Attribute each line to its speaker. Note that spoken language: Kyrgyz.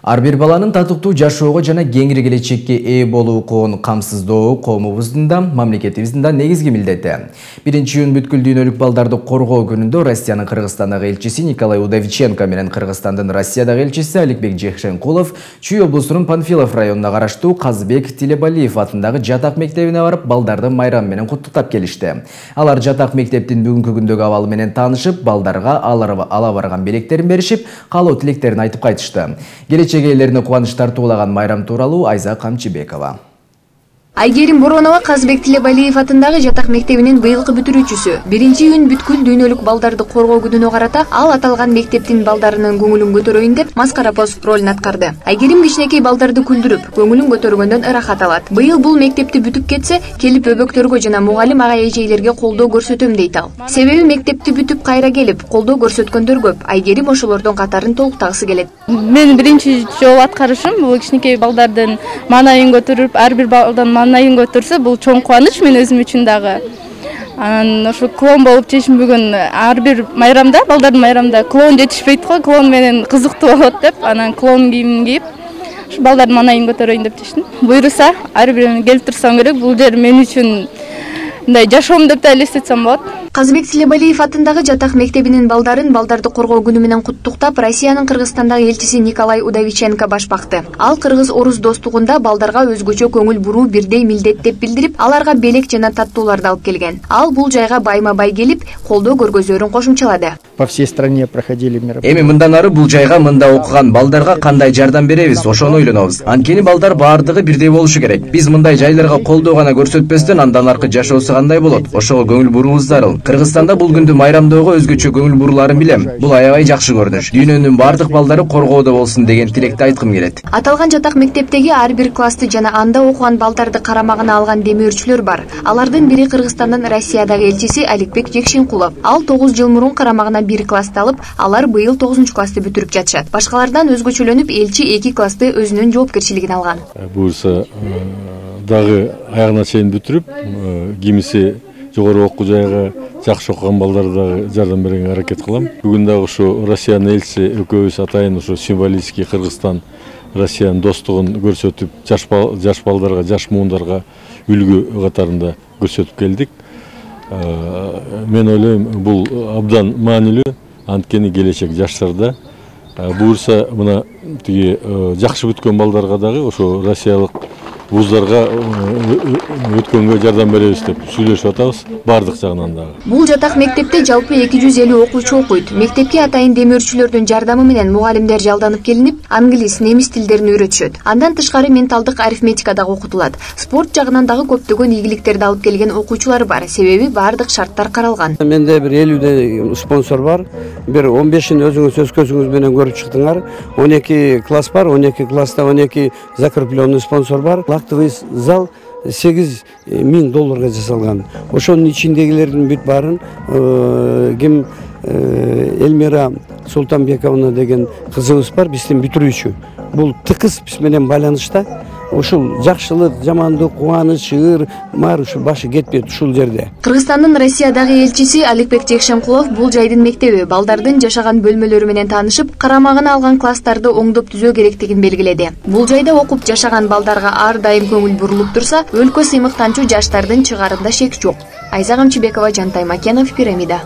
Speaker 1: Ар бир баланын татыктуу жашоого жана кеңири келечекке ээ болуу укугун камсыздоо коомубуздун да мамлекетибиздин да негизги милдети. 1-июнь бүткүл дүйнөлүк балдарды коргоо күнүндө Россиянын Кыргызстандагы элчиси Николай Удовиченко менен Кыргызстандын Россиядагы элчиси Аликбек Жекшенкулов Чүй облусунун Панфилов районуна караштуу Казбек Тилебалиев атындагы жатак мектебине барып, балдарды майрам менен куттуктап келишти. Алар жатак мектептин бүгүнкү күндөгү абалы менен таанышып, балдарга ала барган белектерин беришип, каалоо тилектерин айтып кайтышты. Келечек ээлерине кубаныч тартуулаган майрам тууралуу Айза Камчыбекова.
Speaker 2: Айгерим Боронова Казбек Тилебалиев атындагы жатак мектебинин быйылкы бүтүрүүчүсү. 1-июнь бүткүл дүйнөлүк балдарды коргоо күнүнө карата ал аталган мектептин балдарынын көңүлүн көтөрөйүн деп маскара пост ролун аткарды. Айгерим кичинекей балдарды күлдүрүп, көңүлүн көтөргөндөн ырахат алат. Быйыл бул мектепти бүтүп кетсе, келип өбөктөргө жана мугалим ага эжейлерге колдоо көрсөтөм дейт ал. Себеби мектепти бүтүп кайра келип, колдоо көрсөткөндөр көп. Айгерим ошолордун катарын толуктагысы келет.
Speaker 3: Мен биринчи жолу аткарышым бул кичинекей балдардын маанайын көтөрүп, ар бир балдан маанайын көтөрсө, бул чоң кубаныч мен өзүм үчүн дагы. Анан ошо клоун болуп чечим бүгүн ар бир майрамда, балдардын майрамда клоун жетишпейт го, клоун менен кызыктуу болот деп, анан клоун кийимин кийип, балдардын маанайын көтөрөйүн деп чечтим. Буйруса, ар бирин келип турсам керек, бул жер мен үчүн мындай жашоом деп да элестетсем болот.
Speaker 2: Казбек Тилебалиев атындагы жатак мектебинин балдарды коргоо күнү менен куттуктап, Россиянын Кыргызстандагы элчиси Николай Удовиченко баш бакты. Ал кыргыз-орус достугунда балдарга өзгөчө көңүл буруу бирдей милдет деп билдирип, аларга белек жана таттууларды алып келген. Ал бул жайга байма-бай келип, колдоо көргөзөрүн кошумчалады.
Speaker 4: По всей стране проходили мероприятия.
Speaker 1: Эми мындан ары бул жайга мында окуган балдарга кандай жардам беребиз, ошону ойлонобуз. Анткени балдар баардыгы бирдей болушу керек. Биз мындай жайларга колдоо гана көрсөтпөстөн андан аркы жашоосу кандай болот? Ошого көңүл буруубуз зарыл. Кыргызстанда бул күндү майрамдоого өзгөчө көңүл буруларын билем. Бул аябай жакшы көрүнүш. Дүйнөнүн бардык балдары коргоодо болсун деген тилекти айткым келет.
Speaker 2: Аталган жатак мектептеги ар бир классты жана анда окуган балдарды карамагына алган демөөрчүлөр бар. Алардын бири Кыргызстандын Россиядагы элчиси Аликбек Жекшенкулов. Ал 9 жыл мурун карамагына бир классты алып, алар быйыл 9-классты бүтүрүп жатышат. Башкалардан өзгөчөлөнүп, элчи 2 классты өзүнүн жоопкерчилигине алган.
Speaker 5: Буюрса дагы аягына чейин бүтүрүп, кимиси жогору окуу жайга жакшы окуган балдарга дагы жардам берүүгө аракет кылам. Бүгүн дагы ушу Россиянын элчиси экөөбүз атайын ушу символический Кыргызстан Россиянын достугун көрсөтүп, жаш балдарга, жаш муундарга үлгү катарында көрсөтүп келдик. Мен ойлойм, бул абдан маанилүү, анткени келечек жаштарда. Буюрса мына тиги жакшы бүткөн балдарга дагы ошо россиялык вуздарга өткөнгө жардам беребиз деп сүйлөшүп атабыз, бардык жагынан дагы.
Speaker 2: Бул жатак мектепте жалпы 250 окуучу окуйт. Мектепке атайын демөөрчүлөрдүн жардамы менен мугалимдер жалданып келинип, англис, немис тилдерин үйрөтүшөт. Андан тышкары менталдык арифметика дагы окутулат. Спорт жагынан дагы көптөгөн ийгиликтерди алып келген окуучулар бар. Себеби бардык шарттар каралган.
Speaker 4: Менде бир 50 спонсор бар. Бир 15-ин өзүңүз өз көзүңүз менен көрүп чыктыңар. 12 класс бар, 12 класста 12 закрепленный спонсор бар. Актовый зал $8,000 жасалган. Ошонун ичиндегилердин бүт баарын ким Элмира Султанбековна деген кызыбыз бар, биздин бүтүрүүчү. Бул тыкыз биз менен байланышта. Ушул жакшылык, жамандык, кубаныч, ыр-мар ушул башы кетпейт ушул жерде.
Speaker 2: Кыргызстандын Россиядагы элчиси Аликбек Жекшенкулов бул жайдын мектеби балдардын жашаган бөлмөлөрү менен таанышып, карамагына алган класстарды оңдоп түзөө керектигин белгиледи. Бул жайда окуп жашаган балдарга ар дайым көңүл бурулуп турса, өлкө сыймыктанчу жаштардын чыгарында шек жок. Айза Камчыбекова, Жантай Макенов, Пирамида.